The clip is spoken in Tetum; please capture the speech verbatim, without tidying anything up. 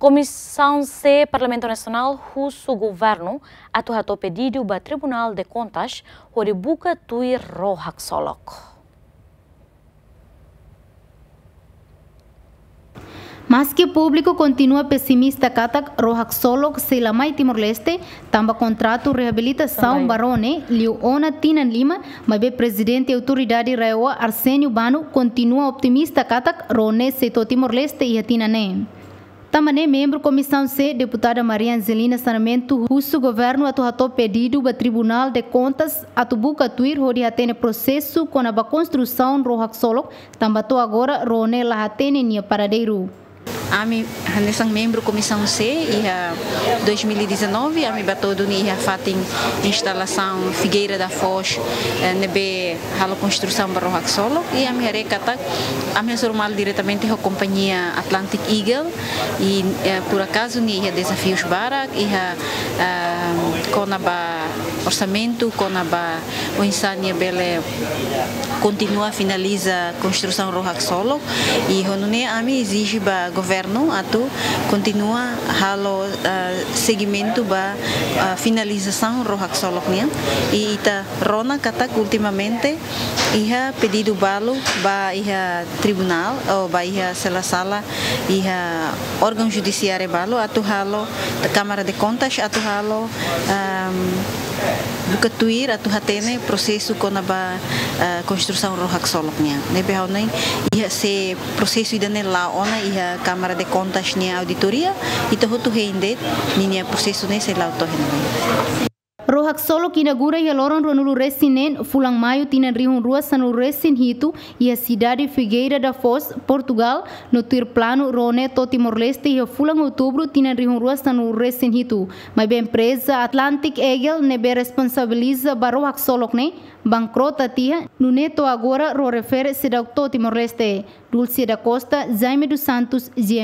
Komisaun C Parlamentu Nasionál husu governu atu hato'o pedidu ba Tribunál de Kontas hodi buka tuir rohak solok. Maski públiku kontinua pesimista katak rohak solok sei la mai Timor-Leste, tanba kontratu reabilitasaun ba ró ne'e liu ona tinan lima, maibé Prezidente Autoridade RAEOA Arsénio Bano kontinua optimista katak ró ne'e sei to'o Timor-Leste iha tinan ne'e. Tanba ne'e membru Komisaun C, Deputada Maria Angelina Sarmento, husu governu atu hato'o pedidu ba Tribunál de Kontas atu buka tuir hodi hatene prosesu kona-ba konstrusaun rohak solok, tanba to'o agora ró ne'e la hatene nia paradeiru. Ami hanesan membru Komisaun C iha dois mil e dezanove, ami bá to'o duni iha fatin instalasaun Figueira da Foz, eh, ne'ebé halo konstrusaun ba rohak solok, i ami haree katak ami hasoru malu diretamente ho kompañia Atlantic Eagle, i, eh, por akazu nia iha dezafius barak, iha, ah, kona-ba orsamentu, kona-ba oinsá nia bele kontinua finaliza konstrusaun rohak solok, i ho nune'e ami ezije ba governu atu kontinua halo, ah, segimentu ba, ah, finalizasaun rohak solok nian, i ita rona katak ultimamente iha pedidu balu ba iha tribunál, ou ba iha sela sala, iha órgaun judisiáriu balu atu halo, Kámara de Kontas atu halo, ehm, buka tuir atu hatene prosesu kona-ba, eh, konstrusaun rohak solok nian. Ne'ebé ha'u hanoin, iha se prosesu ida-ne'e la'o ona iha Kámara de Kontas nia auditoria, ita hotu hein de'it ninia prosesu ne'e sei la'o to'o iha ne'ebé. Rohak solok inaugura iha loron ruanulu resin neen, fulan Maiu tinan rihun rua sanulu resin hitu, iha sidade Figueira da Foz, Portugal, no tuir planu ró ne'e to'o Timor-Leste iha fulan Outubru tinan rihun rua sanulu resin hitu. Maibé empreza Atlantic Eagle ne'ebé responsabiliza ba rohak solok ne'e bankrota tiha, nune'e to'o agora ró refere seidauk to'o Timor-Leste. Dulce da Costa, Jaime dos Santos, G M.